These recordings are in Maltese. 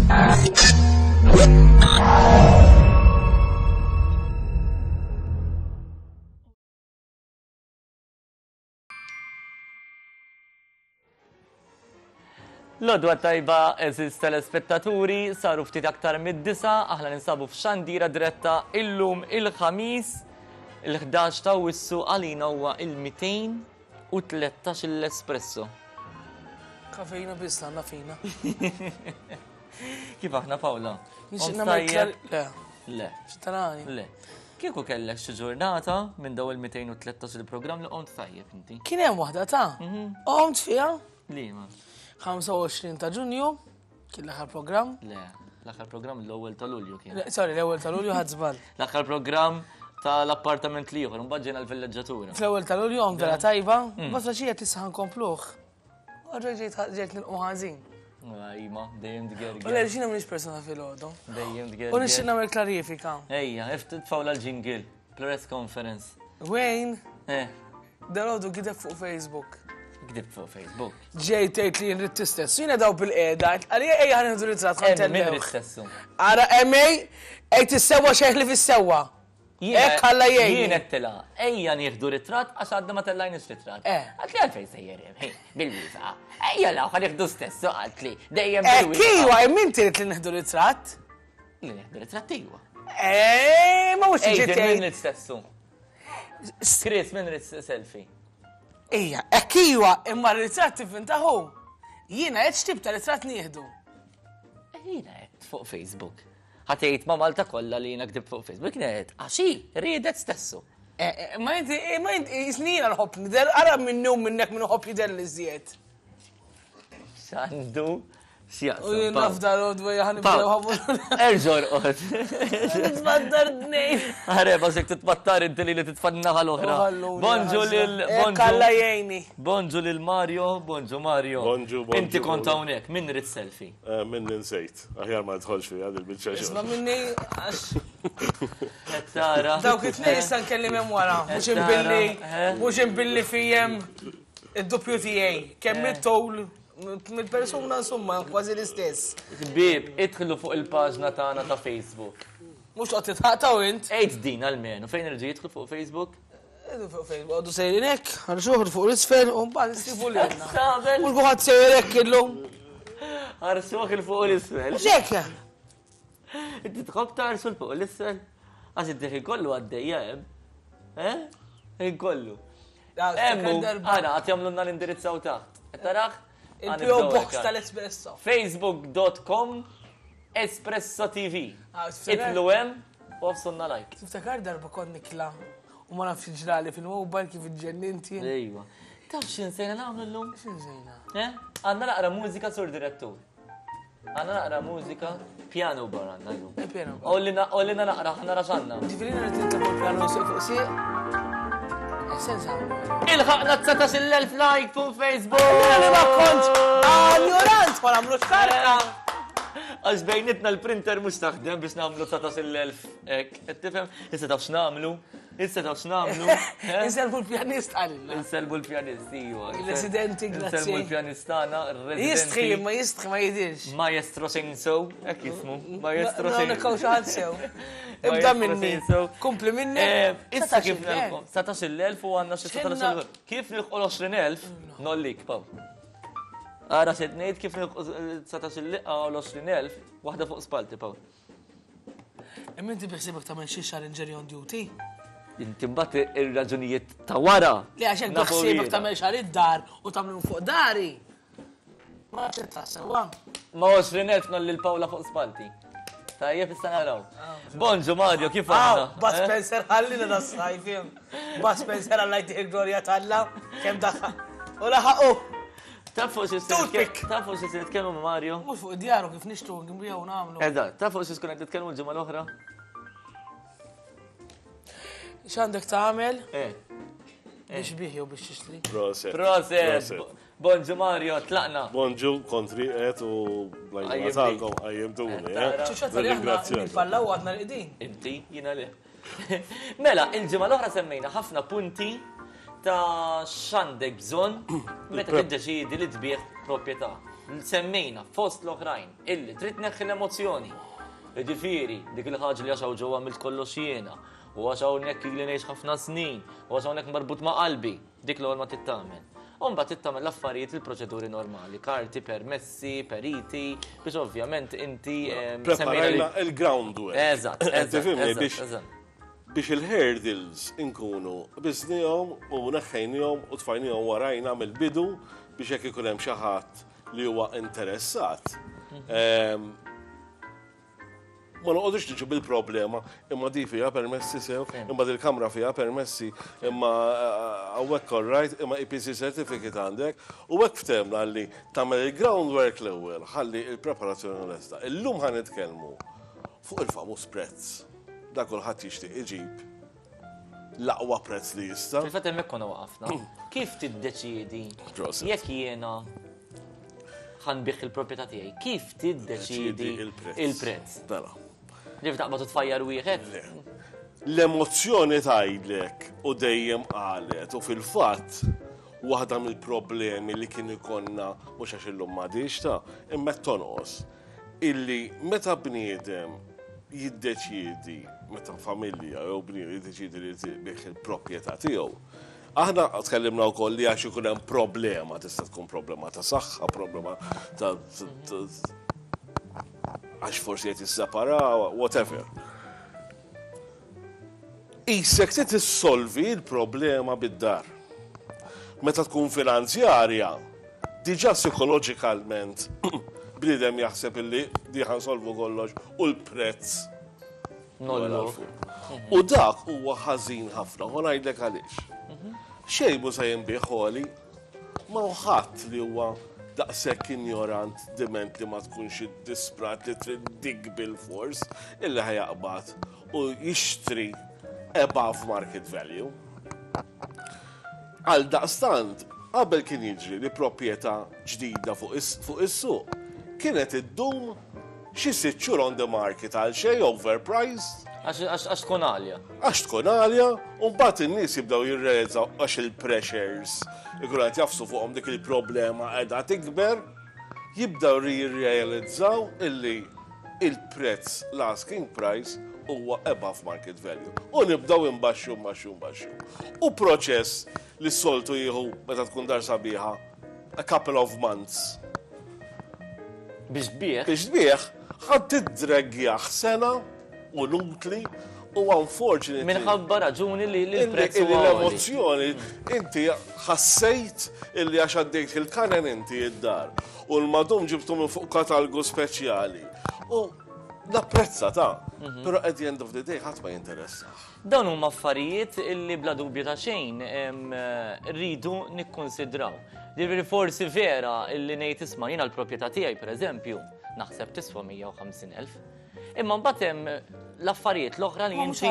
L-odwa tajba eżiz telespettaturi, saru ftit aktar mid-disa, aħna ninsabu f'xandira diretta illum il-ħamis, il-11 ta' wissu għalina huwa il-213 l-espresso. Kafejna biss għandna fina. Kif aħna Paola? Le. Le. X'tarani? Le. Kieku kellek xi ġurnata minn daw il-213 il-programm li qomt tajjeb inti. Kien hemm waħda ta' mhm. qomt fiha. Liema? 25 ta' Ġunju, kien l-aħħar programm. Le, l-aħħar programm l-ewwel ta' Lulju kien. Sorry, l-ewwel ta' Lulju ħadd żball. L-aħħar programm tal-appartament li ieħor, mbagħad ġejna l-villeġġatura. Fl-ewwel ta' Lulju qomt vera tajba, mm. ma traċija tista' nkompluh. Oġa ġejt nilqu ħażin. Ima, dejjem tgerger. U l-ġina minix persona fil-ħodu. Dejjem tgerger. U nixtieq nagħmel klarifika. Ejja, tfawla l-ġingil, press conference. Wayne? Eh. Dal-għodu gideb fuq Facebook. Gdib fuq Facebook. Ġej tgħid li jien tistess. Jiena daw bil-qiegħda, għalija ejja ħan ritratt ħan Min rid Ara MA, ej tissewwa xejn li fis-sewwa. Hekk Alla jgħin. Jien għedtilha, ejja nieħdu ritratt għax għadna ma tellajniex ritratt. Eh. Għalt li għalfejn sejjer bil-wifa. Ejja law ħa nieħdu stess, qaltli dejjem eh, bil-wifa. Iwa, hemm inti li nieħdu ritratt. Li nieħdu ritratt iwa. Eh, ma mhux tiġi Min rid stessu. Chris, min rid selfie? Ija, hekk iwa, imma r-ritratt tivvintahu. Jiena qed x'tip ta' ritratt nieħdu. Jiena qed fuq Facebook. Ħa tgħid ma' Malta kollha li jiena ktibt fuq Facebook, kienet għax hi riedet stessu. Eh, eh, ma inti, eh, ma inti, jisni jiena nħobb nidher, ara minnu minnek minnu ħobb jidher li żjed. X'għandu x'jaqsam. U jien naf dal-għodwa jaħan nibdew ħabu. Erġor qod. Nitbattar d-nejn. Ħare, bażek titbattar inti li li titfanna ħal-oħra. Bonġu lil. Kalla jgħini. Bonġu lil Mario, bonġu Mario. Bonġu, bonġu. Inti kont hawnhekk, min rid selfie? Min ninsejt. Aħjar ma nidħolx fiha din biċċa xogħol. Isma' minni għax. Qed tara. Dawk it-tnejn issa nkellim hemm wara, mhux imbilli mhux imbilli fijem id-doppju tiegħi. Kemm it-towl mill-persuna insomma kważi l-istess. Ħbieb, idħlu fuq il-paġna tagħna ta' Facebook. Mhux toqgħod titħaqtaw int. Għid din almenu, fejn irġi jidħlu fuq Facebook? Fuq Facebook, għadu sejrin hekk, ħarsuh fuq l-isfel u mbagħad issibu lilna. Mhux kulħadd sejjer hekk illum. Ħarsuh il fuq l-isfel. X'hekk? Inti tħobb tarsu l fuq l-isfel? Għax id-dieħi kollu għaddejja hemm. Eh? Ħin kollu. Emmu, għana, għat jamlunna l-indirizzaw taħt. Tarax? Il-PO Box tal-Espresso. Facebook.com Espresso TV. Ah, Itlu hemm u għafsunna like. Tiftakar darba kont nikla U ma nafx ġrali fil-mobile kif iġġennint jien. Ejwa. Taf x'insejna nagħmlu llum? X'insejna? Eh? Għandna naqra mużika sur direttur. Għandna naqra mużika piano bar għandna llum. Eh, piano bar. Ollina ollina naqra ħna nara x'għandna. Ġifieri nhar it-tliet fuq piano sieq fuq sieq. Eh, sens għamlu. Ilħaqna 19,000 like fuq Facebook! Li ma kont għanjurant ma nagħmlux karta. Għax bejnitna l-printer mhux taħdem biex nagħmlu 19,000 hekk. Qed tifhem? Issa taf x'nagħmlu? Issa taf x'nagħmlu? Eh? Inselbu l-pjanist għalina. Inselbu l-pjanist, iva. Il-residenti, grazzi. Inselbu l-pjanist tagħna, residenti. Jistħi, ma jistħi ma jidirx. Maestro Senso, hekk jismu. Maestro Senso. Nikaw xi ħadd sew. Ibda minni. Kompli minni. Eh, issa kif nilħu? 19,000 u għandna xi 19,000. Kif nilħu l-20,000? Nollik, Paw. Ara se ngħid kif nilħu 19,000 l-20,000, waħda fuq spalti, Paw. Imma inti biħsibek tagħmel xi xahar on duty? Inti mbagħad ir-raġunijiet ta' wara. Le għax hekk biħsibek tagħmel xahar id-dar u tagħmlu fuq dari. Ma ċetta sewwa. Ma 20,000 nolli l-Pawla fuq spalti. Tajjeb issa naraw. Bonġu Mario, kif għandna? Bud eh? Spencer ħallina da sajf Bud Spencer għalla jtih glorja talla, kemm daħħa. U laħaqu. Taf fuq xi Toothpick. Taf fuq xi se nitkellmu ma' Mario? Mhux fuq id-djar u kif nixtru nbiegħu nagħmlu. Eżatt, taf fuq xi tkun qed nitkellmu l-ġimgħa l-oħra? X'għandek tagħmel? Eh. Biex bih jew biex tixtri. Proset. Proset. Bonġu Mario, tlaqna. Bonġu, kontri qed u blajna tagħkom qajjimtuni. Eh? Ċuċata li aħna nippallaw għadna l-qegħdin. Inti, jiena le. Mela, il-ġimgħa l-oħra semmejna ħafna punti ta' x'għandek bżonn meta tiddeċiedi li tbigħ proprjetà. Semmejna fost l-oħrajn illi trid tneħħi l-emozzjoni. Jiġifieri, dik il-ħaġa li għax hawn ġewwa għamilt kollox jiena, u għax hawnhekk ili ngħix ħafna snin, u għax hawnhekk marbut ma' qalbi, dik l-ewwel ma trid tagħmel. U mbagħad trid tagħmel l-affarijiet il-proċeduri normali, karti, permessi, periti, biex ovvjament inti Preparajna il-groundwork. Eżatt, eżatt. Biex il-hurdles inkunu qbiżnihom u neħħejnihom u tfajnihom warajna mill-bidu biex jekk ikun hemm xi ħadd li huwa interessat, ma noqogħdux niġu bil-problema imma di fiha permessi sew, imma dil-kamra fiha permessi, imma hawnhekk all right, imma EPC certificate għandek, u hekk ftehmna li tagħmel il-groundwork l-ewwel ħalli l-preparazzjoni lesta. Illum ħa nitkellmu fuq il-famuż prezz. Da kulħadd jixtieq iġib l-aqwa prezz li jista'. Fil-fatt hemmhekk konna waqafna. Kif tiddeċiedi jekk jiena ħanbih il-proprjetà tiegħi, kif tiddeċiedi il-prezz? Mela. Ġifi taqbad u tfajjar wieħed? L-emozzjoni tgħidlek u dejjem qalet u fil-fatt waħda mill-problemi li kien ikonna mhux għax illum m'għadix ta' imma tonqos illi meta bniedem jiddeċiedi, meta familja jew bniedem jiddeċiedi li jbigħ il-proprjetà tiegħu, aħna tkellimna wkoll li għax ikun hemm problema, tista' tkun problema ta' saħħa, problema ta' għax forsi qed jisseparaw, whatever. Qisek trid issolvi l-problema bid-dar. Meta tkun finanzjarja, diġà psikoloġikalment bniedem jaħseb illi di ħa nsolvu kollox u l-prezz Nollu. U dak huwa ħażin ħafna, u ngħidlek għaliex. Xejn mhu se jinbiegħ għoli, ma hu ħadd li huwa daqshekk injorant diment li ma tkunx iddisprat li trid dik bil-fors illi ħa jaqbad u jixtri above market value. Għaldaqstant, qabel kien jiġri li proprjetà ġdida fuq is-suq kienet iddum xi sitt xhur on the market għal xejn overpriced. Għax tkun għalja. Għax tkun għalja, u mbagħad in-nies jibdew jirrealizzaw għax il-pressures ikunu qed jafsu fuqhom dik il-problema qiegħda tikber, jibdew jirrealizzaw illi il-prezz, l-asking price, huwa above market value. U nibdew inbaxxu, nbaxxu, nbaxxu. U proċess li s-soltu jieħu meta tkun dar sabiħa a couple of months. Biex tbigħ. Biex tbigħ, ħa tiddregjah sena u inutli u unfortunately. Minħabba raġuni li l-prezz huwa L-emozzjoni, inti ħassejt illi għax għaddejt il-kanen inti id-dar u l-madum ġibtu minn fuq katalgu speċjali. U napprezza ta' però at the end of the day ħadd ma jinteressah. Dawn huma affarijiet illi bla dubju ta' xejn rridu nikkonsidraw. Ġifieri forsi vera illi ngħid isma' jiena l-proprjetà tiegħi pereżempju naħseb tiswa 150,000. Imma mbagħad hemm l-affarijiet l-oħra li inti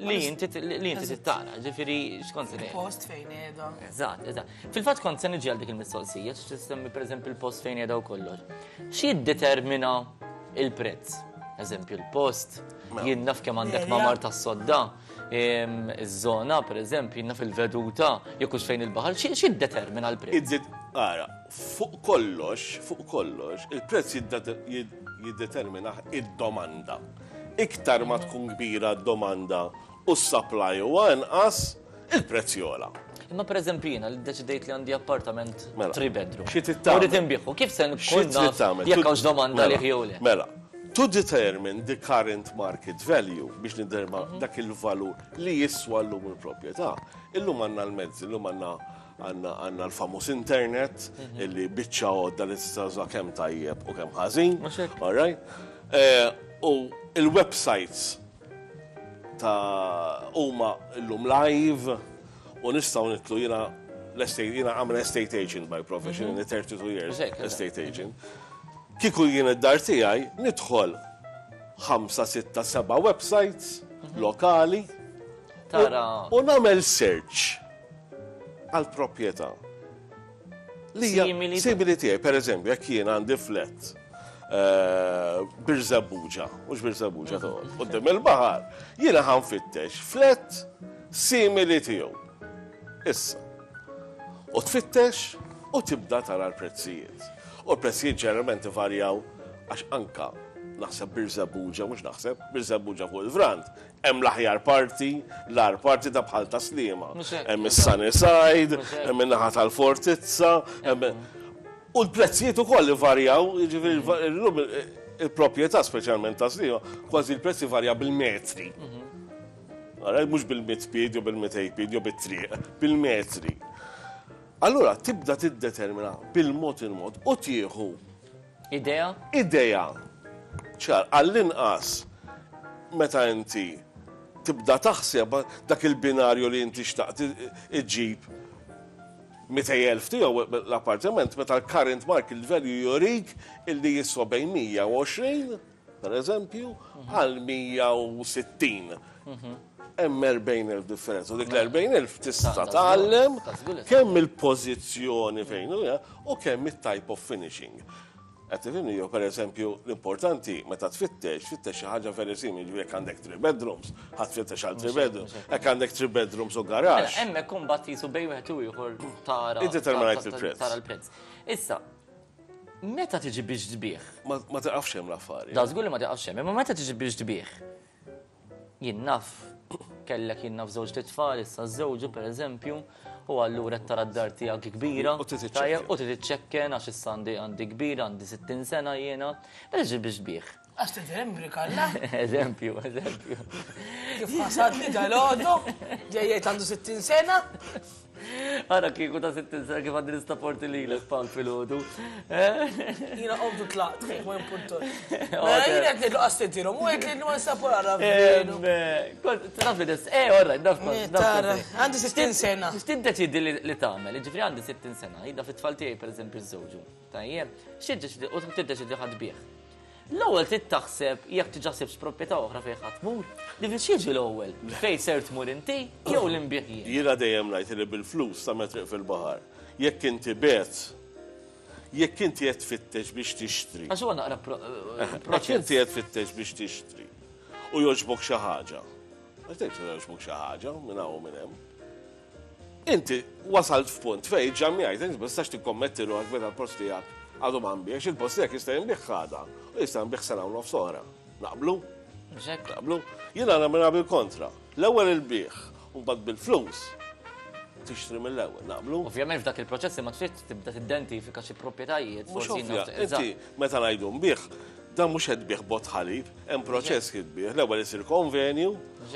li inti li inti tittara, ġifieri x'kont se ngħid. Post fejn qiegħda. Eżatt, eżatt. Fil-fatt kont se niġi għal dik il-mistoqsija, x'tissemmi pereżempju l-post fejn qiegħda u kollox. X'jiddetermina il-prezz? Eżempju l-post, Mela. jien naf kemm għandek mamar tas-sodda, iż-żona pereżempju, jien naf il-veduta, jekk hux fejn il-baħar, x'jiddetermina l-prezz? Ara, fuq kollox, fuq kollox, il-prezz jiddeterminah id-domanda. Iktar ma tkun kbira d-domanda u s-supply huwa inqas, il-prezz jogħla. Imma pereżempju jiena li ddeċidejt li għandi appartament Mela, three bedroom. xi trid tagħmel? U rrid inbigħu, kif se Xi nkun trid naf tagħmel? jekk hawnx domanda Mela, għalih jew le? Mela, to determine the current market value biex nidderma dak il-valur li jiswa llum il-proprjetà, illum għandna l-mezzi, illum għandna għandna l-famuż internet illi biċċa għodda li tista' tuża kemm tajjeb u kemm ħażin. Mhux hekk. All right? U il-websites ta' huma llum live u nistgħu nitlu jiena l-estate, jiena I'm an estate agent by profession, in 32 years Mhux hekk, eżatt. estate agent. Kieku jien id-dar tiegħi nidħol 5, 6, 7 websites lokali Tara. u nagħmel search għal proprjetà. Li hija Simili. simili tiegħi, per eżempju, jekk jien għandi flat Birżebbuġa, mhux Birżebbuġa toqgħod, quddiem il-baħar, jiena ħa nfittex flat simili tiegħu. Issa. U tfittex u tibda tara l-prezzijiet. U l-prezzijiet ġeneralment ivarjaw għax anka naħseb Birżebbuġa, mhux naħseb, Birżebbuġa fuq il-Vrant, hemm l-aħjar parti, l-agħar parti ta' bħal ta' Sliema. Hemm is-Sunnyside, hemm in-naħa tal-Fortizza, hemm U l-prezzijiet ukoll ivarjaw, jiġifieri llum il-proprjetà speċjalment ta' Sliema, kważi l-prezz ivarja bil-metri. Ara, mhux bil-mitt pied jew bil-mitej pied jew bit-triq, bil-metri. Allura tibda tiddetermina bil-mod il-mod u tieħu Idea? Idea. Ċar, għall-inqas meta inti tibda taħseb dak il-binarju li inti xtaqt iġġib 200,000 tiegħu l-appartament meta l-current market value jurik illi jiswa bejn 120 per eżempju, għal 160. Hemm 40,000 differenza. U dik l-40,000 tista' tgħallem kemm il-pożizzjoni fejn hu u kemm it-type of finishing. Qed tifhimni jew pereżempju l-importanti meta tfittex, tfittex xi ħaġa very simili, ġifieri jekk għandek three bedrooms, ħa tfittex għal three bedrooms, jekk għandek three bedrooms u garage. Mela, hemmhekk imbagħad qisu bejn wieħed u ieħor tara. Iddeterminajt il-prezz. Tara l-prezz. Issa, meta tiġi biex tbigħ? Ma tiqafx hemm l-affari. Da żgur li ma tiqafx hemm, imma meta tiġi biex tbigħ? Jien naf, kellek jien naf żewġt itfal, issa żewġu pereżempju, u allura qed tara d-dar tiegħek kbira. U trid iċċekken. U trid iċċekken għax issa għandi għandi kbira, għandi 60 sena jiena. Meta tiġi biex tbigħ? Għax tidher kalla. Eżempju, eżempju. Kif ħasadni dal-għodu, ġejjed għandu 60 sena. Ara kieku ta' 60 sena kif għandi nistaporti lilek Pawl filgħodu. Jiena qomtu tlaqt, kif ma jimpuntur. Mela jiena qed ngħidlu qas tidirhom, u qed li ma nistapor ara veru. Taf li des, eh, orra, naf Għandi 60 sena. X'tiddeċidi li tagħmel? Ġifieri għandi 60 sena, jidda fit-tfal tiegħi pereżempju żewġu. Tajjeb, x'tiddeċidi u tiddeċidi ħadd bih. L-ewwel trid taħseb jekk diġà sibtx proprjetà oħra fejn ħa tmur. Ġifieri x'jiġi l-ewwel? Fejn ser tmur inti jew li nbigħ jien? Jiena dejjem ngħid li bil-flus tagħmel triq fil-baħar. Jekk inti begħt, jekk inti qed tfittex biex tixtri. Għax huwa naqra proċess. Jekk inti qed tfittex biex tixtri u jogħġbok xi ħaġa. Għax dejjem jogħġbok xi ħaġa minn hawn u minn hemm. Inti wasalt f'punt fejn ġammjajt, inti ma tistax tikkommetti ruħek meta l-post tiegħek għadu ma nbiegħx, il-post tiegħek jista' jinbiegħ għada u jista' jinbiegħ sena u nofs oħra. Naqblu? Naqblu? Jiena nagħmilha bil-kontra. L-ewwel il-biegħ u mbagħad bil-flus tixtri mill-ewwel, naqblu? Ovvjament f'dak il-proċess imma trid tibda tiddentifika xi proprjetajiet. Mhux ovvja, inti meta ngħidu nbigħ, Dan mhux qed tbigħ bott ħalib, hemm proċess kif tbigħ. L-ewwel isir konvenju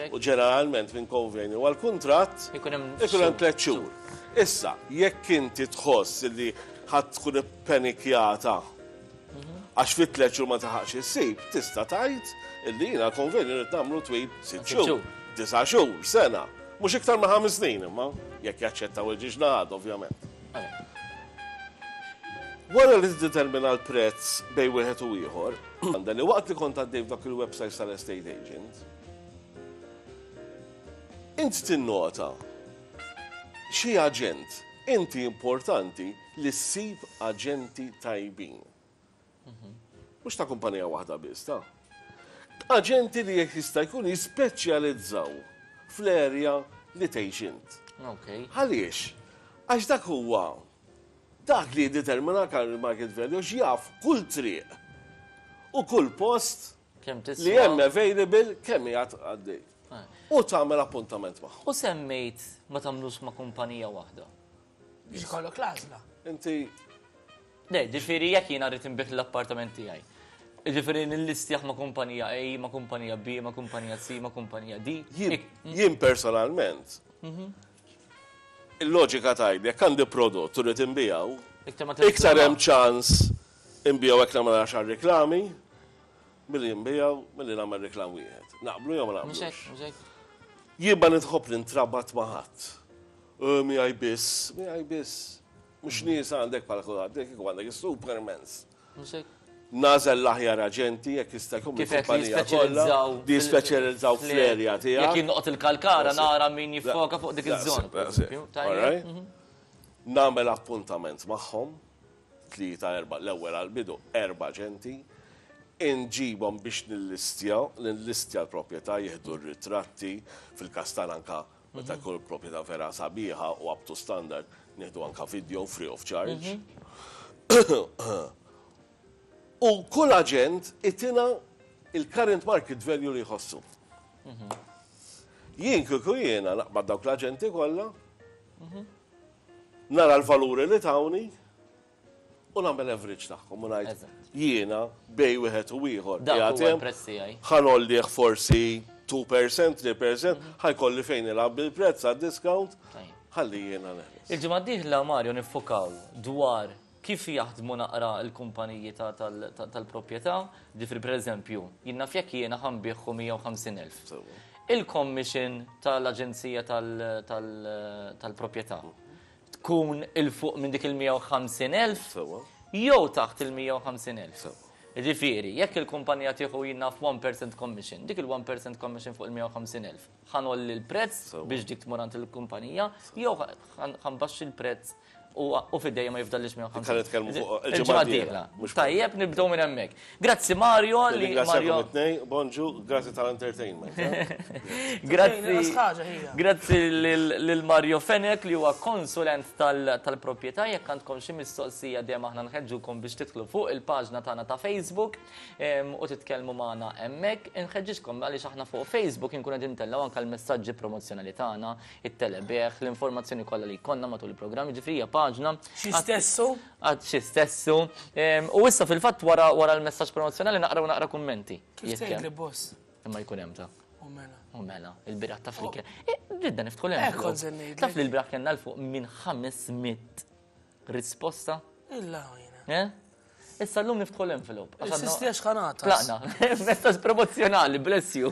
u ġeneralment minn konvenju għal kuntratt ikun hemm tliet xhur. Issa, jekk inti tħoss li ħadd tkun ippenikjata għax fit tliet xhur ma taħaqx issib, tista' tgħid illi jiena konvenju rrid nagħmlu twil sitt xhur, disa' xhur, sena. Mhux iktar ma' ħames snin imma, jekk jaċċettaw il-ġiex naħad, ovvjament. Wara li tiddetermina l-prezz bejn wieħed u ieħor, għandha li waqt li kont għaddej f'dak il-websites tal-estate agent, int tinnota xi aġent, inti importanti li ssib aġenti tajbin. Mhux ta' kumpanija waħda biss, ta' aġenti li jekk jista' jkun jispeċjalizzaw fl-area li tgħix int. Għaliex? Għax dak huwa dak li jiddetermina current market value għax jaf kull triq u kull post li hemm available kemm qiegħed għaddej. U tagħmel appuntament magħhom. U semmejt ma tagħmlux ma' kumpanija waħda. Biex ikollok l-għażla. Inti Le, ġifieri jekk jiena rrid inbigħ l-appartament tiegħi. Ġifieri nillistjah ma' kumpanija A, ma' kumpanija B, ma' kumpanija C, ma' kumpanija D. Jien personalment, il-loġika tgħidli jekk għandi prodott u rrid inbiegħu, iktar hemm ċans inbiegħu jekk nagħmel għaxar riklami milli nbiegħu milli nagħmel reklam wieħed. Naqblu jew ma naqblux? Jien ma nitħobb nintrabat ma' ħadd. Miegħi biss, miegħi biss. Mhux nies għandek bħal kulħadd, jekk għandek is-supermans. Nagħżel l-aħjar aġenti jekk jista' jkun Kif qed li jispeċjalizzaw li jispeċjalizzaw fl-erja tiegħek. Jekk jien noqgħod il-Kalkara nara min jiffoka fuq dik iż-żona. Nagħmel appuntament magħhom, tlieta erba' l-ewwel għall-bidu erba' aġenti, inġibhom biex nillistja, nillistja l-proprjetà, jieħdu r-ritratti, fil-każ tagħna anke Meta jkun il-proprjetà vera sabiħa u up to standard, nieħdu anka video free of charge. U kull aġent itina il-current market value li jħossu. Jien kieku jiena naqbad dawk l-aġenti kollha, nara l-valuri li tawni u nagħmel average tagħhom u ngħid jiena bejn wieħed u ieħor. Dak huwa l-prezz tiegħi. Ħa ngħollih forsi 2%, 3%, ħa jkolli fejn nilgħab bil-prezz għad-discount, ħalli jiena neħles. Il-ġimgħa d-dieħla Mario niffukaw dwar kif jaħdmu naqra l-kumpaniji tal-proprjetà, ġifieri pereżempju, jien naf jekk jiena ħa nbigħu 150,000. Il-commission tal-aġenzija tal-proprjetà tkun 'il fuq minn dik il-150,000 jew taħt il-150,000. Ġifieri, jekk il-kumpanija tieħu jien naf 1% commission, dik il-1% commission fuq il-150,000, ħa ngħolli l-prezz biex dik tmur għand il-kumpanija, jew ħa nbaxxi l-prezz u f'idejja ma jifdallix 150. Ħa nitkellmu fuq il-ġimgħa d-dieħla. Tajjeb, nibdew minn hemmhekk. Grazzi Mario li Mario. Bonġu, grazzi tal-entertainment. Grazzi. Grazzi lil Mario Fenech li huwa konsulent tal-proprjetà jekk għandkom xi mistoqsija dejjem aħna nħeġġukom biex tidħlu fuq il-paġna tagħna ta' Facebook u titkellmu magħna hemmhekk. Inħeġġiġkom għaliex aħna fuq Facebook inkunu qegħdin ntellgħu anke l-messaġġi promozzjonali tagħna, it-telebigħ, l-informazzjoni kollha li jkollna matul il-programm, jiġifieri hija paġna. Xi stessu? Għad xi stessu. U issa fil-fatt wara wara l-messaġġ promozzjonali naqraw naqra kummenti. Kif tgħidli boss? Imma jkun hemm ta'. U mela. U mela, il-bieraħ taf li kien. Ridna niftħu l-hemm. Kont se ngħidlek. Taf li l-bieraħ kellna 'l fuq minn 500 risposta. Illa jiena. Eh? Issa llum niftħu l-envelope. Sisti għax ħanata. Tlaqna. Messaġġ promozzjonali, bless you.